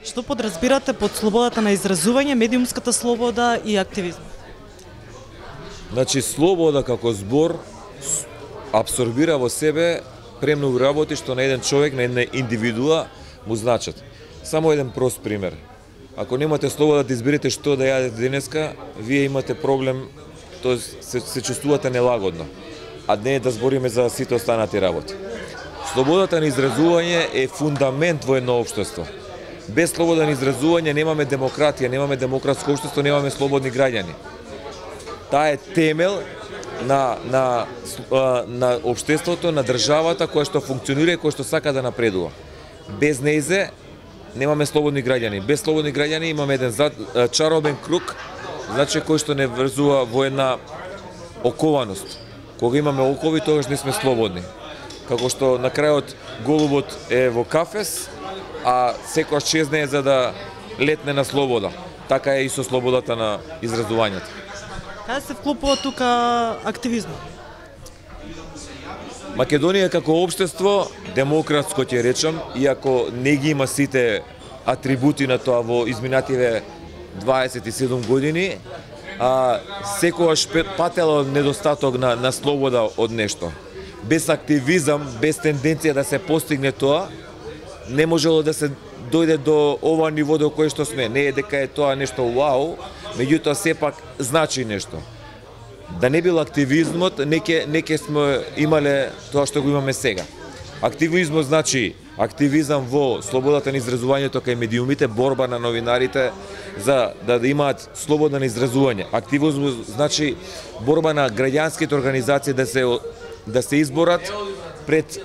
Што подразбирате под слободата на изразување, медиумската слобода и активизм? Значи, слобода како збор абсорбира во себе премногу работи што на еден човек, на една индивидуа му значат. Само еден прост пример. Ако немате слобода да изберете што да јадете денеска, вие имате проблем, тоест се чувствувате нелагодно, а не да збориме за сите останати работи. Слободата на изразување е фундамент во едно општество. Без слобода на изразување немаме демократија, немаме демократско општество, немаме слободни граѓани. Таа е темел на општеството, на државата која што функционира и која што сака да напредува. Без нејзе немаме слободни граѓани. Без слободни граѓани имаме еден чаробен круг, значи кој што не врзува во една окованост. Кога имаме окови, тогаш не сме слободни. Како што на крајот голубот е во кафес, а секојаш чезне за да летне на слобода. Така е и со слободата на изразувањето. Каде се вклопува тука активизмот? Македонија како општество, демократско ќе речам, иако не ги има сите атрибути на тоа во изминативе 27 години, секогаш патело недостаток на слобода од нешто. Без активизам, без тенденција да се постигне тоа, не можело да се дојде до ова ниво до кое што сме. Не е дека е тоа нешто вау, меѓутоа сепак значи нешто. Да не бил активизмот, неке сме имале тоа што го имаме сега. Активизмот значи активизам во слободата на изразувањето кај медиумите, борба на новинарите за да имаат слобода на изразување. Активизмот значи борба на граѓанските организации да се изборат пред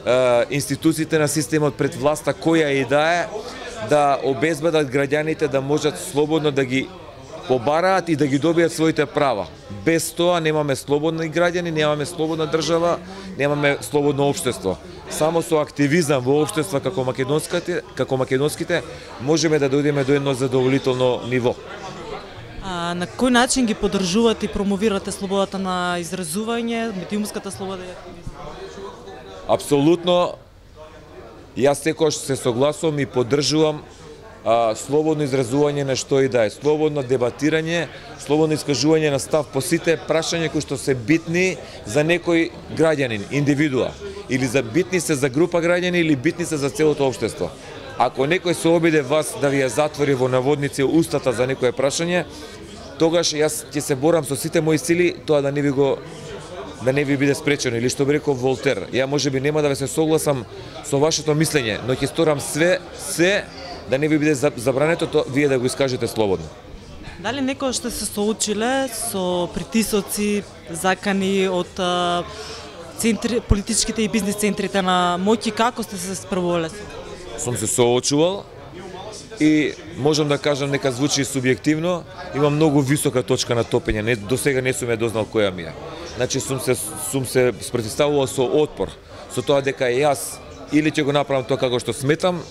институциите на системот, пред власта која и да обезбедат граѓаните да можат слободно да ги побараат и да ги добијат своите права. Без тоа немаме слободни граѓани, немаме слободна држава, немаме слободно општество. Само со активизам во општества како македонските можеме да дојдеме до едно задоволително ниво. На кој начин ги поддржувате и промовирате слободата на изразување, медиумската слобода и активизм? Апсолутно, јас секогаш се согласувам и поддржувам слободно изразување на што и да е, слободно дебатирање, слободно искажување на став по сите прашања кои што се битни за некој граѓанин, индивидуа, или битни се за група граѓани или битни се за целото општество. Ако некој се обиде вас да ви ја затвори во наводници устата за некое прашање, тогаш јас ќе се борам со сите мои сили тоа да не ви биде спречено, или што би рекол Волтер. Ја можеби нема да ве се согласам со вашето мислење, но ќе сторам се да не ви биде забрането вие да го искажете слободно. Дали некој што се соочиле со притисоци, закани од политичките и бизнис центрите на моќ, како сте се справувале? Сум се соочувал и можам да кажам, нека звучи субјективно, има многу висока точка на топење, до сега не сум ја дознал која ми е. Значи сум се спротивставувал со отпор, со тоа дека јас или ќе го направам тоа како што сметам,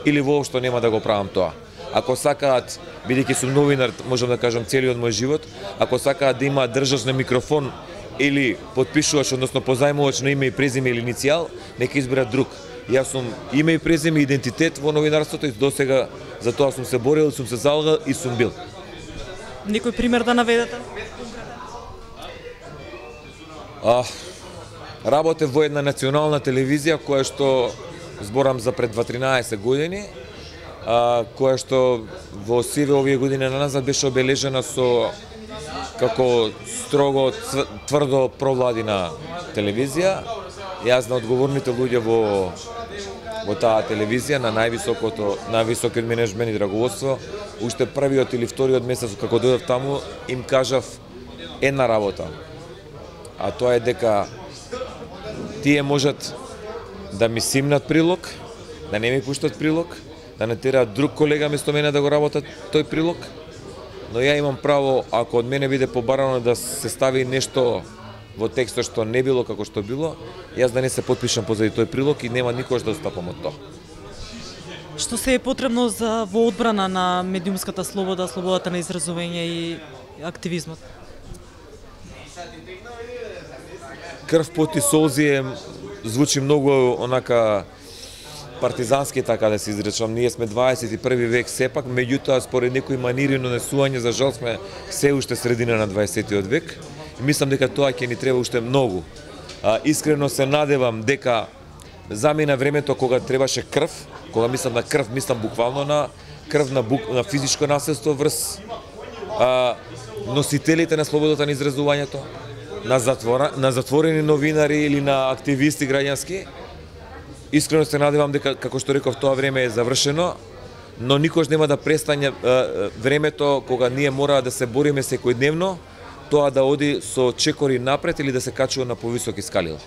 или воопшто нема да го правам тоа. Ако сакаат, бидејќи сум новинар, можам да кажам целиот мој живот, ако сакаат да има држач на микрофон или подпишувач, односно позајмувач на име и презиме или иницијал, нека изберат друг. Јас сум име и презиме, идентитет во новинарството и досега за тоа сум се борил, сум се залагал и сум бил. Некој пример да наведете? Работев во една национална телевизија која што зборам за пред 13 години, која што во сиве овие години назад беше обележена со како строго тврдо провладина телевизија. Јас на одговорните луѓе во таа телевизија, на највисокиот менеджмент и раководство, уште првиот или вториот месец како дојдов таму, им кажав една работа, а тоа е дека тие можат да ми симнат прилог, да не ми пуштат прилог, да не тераат друг колега место мене да го работат тој прилог, но ја имам право, ако од мене биде побарано да се стави нешто во текстот што не било како што било, јас да не се потпишам позади тој прилог и нема никош да отстапам од тоа. Што се е потребно во одбрана на медиумската слобода, слободата на изразување и активизмот? Крв, пот и солзи звучи многу онака партизански, така да се изречам. Ние сме 21 век сепак, меѓутоа според некои манири на несување, за жал сме се уште средина на 20 век. И мислам дека тоа ќе ни треба уште многу. Искрено се надевам дека замина времето кога требаше крв, кога мислам на крв, мислам буквално на крв, на физичко насилство врз носителите на слободата на изразувањето, на затворени новинари или на активисти граѓански. Искрено се надевам дека, како што реков, тоа време е завршено, но никош нема да престане времето кога ние мора да се бориме секојдневно, тоа да оди со чекори напред или да се качува на повисоки скалила.